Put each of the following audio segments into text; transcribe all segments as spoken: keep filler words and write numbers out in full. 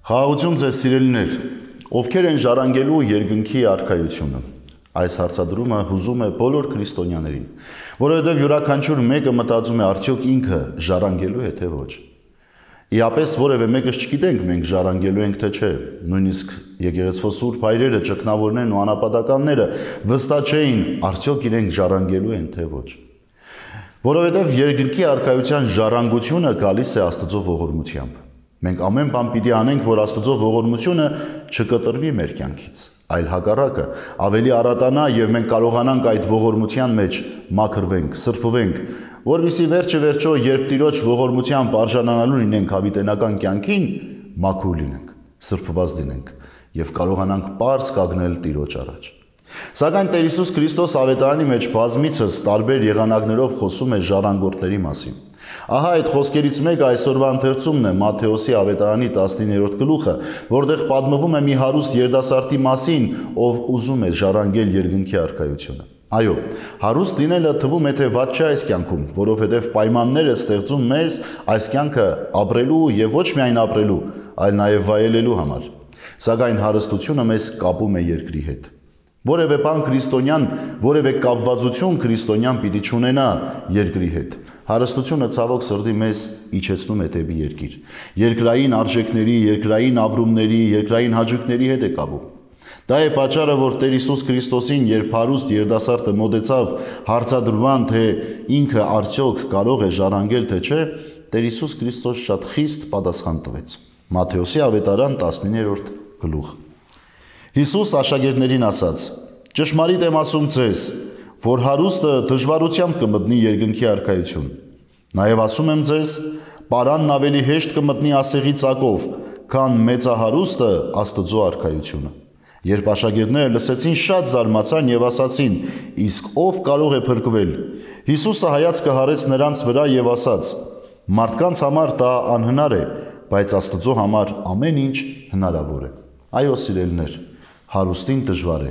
Խաղաղություն ձեզ սիրելիներ, ովքեր են ժառանգելու երկնքի արքայությունը։ Այս հարցադրումը հուզում է բոլոր քրիստոնյաներին, որովհետև յուրաքանչյուր մեկը մտածում է արդյոք ինքը ժառանգելու է թե ոչ։ Իապես որևէ մեկս չգիտենք մենք ժառանգելու ենք թե չէ, նույնիսկ եկեղեցվո սուրբ հայրերը, ճգնավորներն ու անապատականները վստահ չէին արդյոք իրենք ժառանգելու են թե ոչ։ Որովհետև երկնքի արքայության ժառանգությունը գալիս է Աստծո ողորմությամբ։ Մենք ամեն բան պիտի անենք, որ Աստծո ողորմությունը չկտրվի մեր կյանքից, այլ հակառակը ավելի առատանա եւ մենք կարողանանք այդ ողորմության մեջ մաքրվենք, սրբվենք, որովհետեւ վերջը վերջո երբ Տիրոջ ողորմությամբ արժանանալու լինենք հավիտենական կյանքին, մաքուր լինենք, սրբված լինենք եւ կարողանանք պարզ կանգնել Տիրոջ առաջ։ Սակայն Տեր Հիսուս Քրիստոս ավետարանի մեջ բազմիցս տարբեր եղանակներով խոսում է ժառանգորդների մասին։ Ահա այդ խոսքերից մեկը այսօրվա ընթերցումն է Մատթեոսի ավետարանի տասնիններորդ գլուխը, որտեղ պատմվում է մի հարուստ երիտասարդի մասին, ով ուզում է ժառանգել երկնքի արքայությունը։ Այո, հարուստ լինելը թվում է թե վատ չէ այս կյանքում, որովհետև պայմանները ստեղծում մեզ այս կյանքը ապրելու եւ ոչ միայն ապրելու, այլ նաեւ վայելելու համար։ Սակայն հարստությունը մեզ կապում է երկրի հետ։ Որևէ բան քրիստոնյան, որևէ կապվածություն քրիստոնյան պիտի չունենա երկրի հետ։ Հարստությունը ցավոք սրտի մեզ իջեցնում է դեպի երկիր։ Երկրային արժեքների, երկրային ապրումների, երկրային հաճույքների հետ է կապում։ Դա է պատճառը, որ Տեր Հիսուս Քրիստոսին, երբ հարուստ երիտասարդը մոտեցավ հարցադրման, թե ինքը արդյոք կարող է ժառանգել թե չէ, Տեր Հիսուս Քրիստոս շատ խիստ պատասխան տվեց։ Մատթեոսի ավետարան տասնիններորդ գլուխ։ Հիսուս աշակերտներին ասաց. «Ճշմարիտ եմ ասում ձեզ, որ հարուստը դժվարությամբ կմտնի երկնքի արքայություն։ Նաև ասում եմ ձեզ, պարանն ավելի հեշտ կմտնի ասեղի ծակով, քան մեծահարուստը Աստծո արքայությունը»։ Երբ աշակերտները լսեցին, շատ զարմացան եւ ասացին. «Իսկ ով կարող է փրկվել»։ Հիսուսը հայացքը հառեց նրանց վրա եւ ասաց. «Մարդկանց համար դա անհնար է, բայց Աստծո համար ամեն ինչ հնարավոր է»։ Այո, սիրելիներ, հարուստին դժվար է,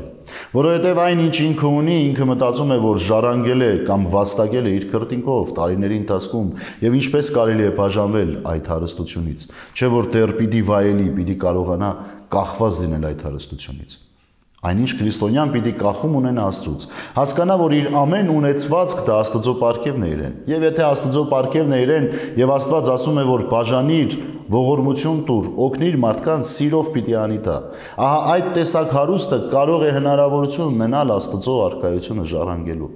որովհետև այն ինչ ինքը ունի, ինքը մտածում է, որ ժառանգել է կամ վաստակել է իր քրտինքով տարիների ընթացքում եւ ինչպես կարելի է բաժանվել այդ հարստությունից, չէ որ դեռ պիտի վայելի, պիտի կարողանա կախված լինել այդ հարստությունից։ Այնինչ քրիստոնյան պիտի կախում ունենա Աստծուց, հասկանա, որ իր ամեն ունեցվածք դա Աստծո պարգևն է իրեն։ Եվ եթե Աստծո պարգևն է իրեն եւ Աստված ասում է, որ բաժանիր, ողորմություն տուր, օգնիր մարդկանց, սիրով պիտի անի դա։ Ահա այդ տեսակ հարուստը կարող է հնարավորություն ունենալ Աստծո արքայությունը ժառանգելու։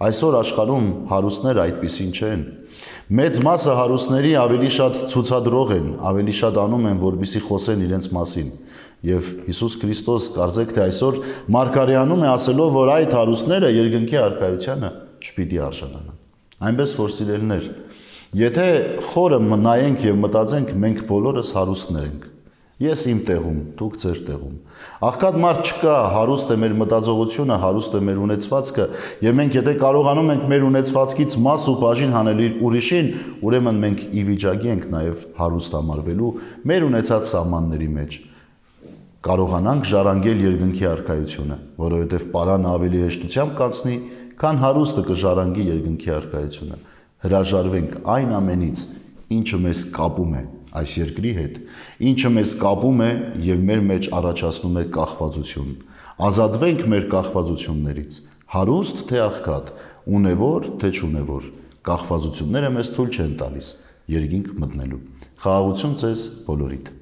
Այսօր աշխարհում հարուստները այդպիսին չեն։ Մեծ մասը հարուստների ավելի շատ ցուցադրող են, ավելի շատ անում են, որպեսզի խոսեն իրենց մասին։ Եվ Հիսուս Քրիստոս կարծեք թե այսօր մարգարեանում է ասելով, որ այդ հարուստները երկնքի արքայությանը չպիտի արժանանան։ Այնպես որ սիրելիներ, եթե խորը նայենք եւ մտածենք, մենք բոլորս հարուստներ ենք։ Ես իմ տեղում, դուք ձեր տեղում։ Աղքատ մարդ չկա, հարուստ է մեր մտածողությունը, հարուստ է մեր ունեցվածքը, եւ մենք եթե կարողանում ենք մեր ունեցվածքից մաս ու բաժին հանել ուրիշին, ուրեմն մենք ի վիճակի ենք նաեւ հարուստ համարվելու մեր ունեցած սահմանների մեջ։ Կարողանանք ժառանգել երկնքի արքայությունը, որովհետև պարանը ավելի հեշտությամբ կանցնի, քան հարուստը կժառանգի երկնքի արքայությունը։ Հրաժարվենք այն ամենից, ինչը մեզ կապում է այս երկրի հետ, ինչը մեզ կապում է եւ մեր մեջ առաջացնում է կախվածություն։ Ազատվենք մեր կախվածություններից, հարուստ թե աղքատ, ունևոր թե չունևոր, կախվածությունները մեզ թույլ չեն տալիս երկինք մտնելու։ Խաղաղություն ձեզ բոլորիդ։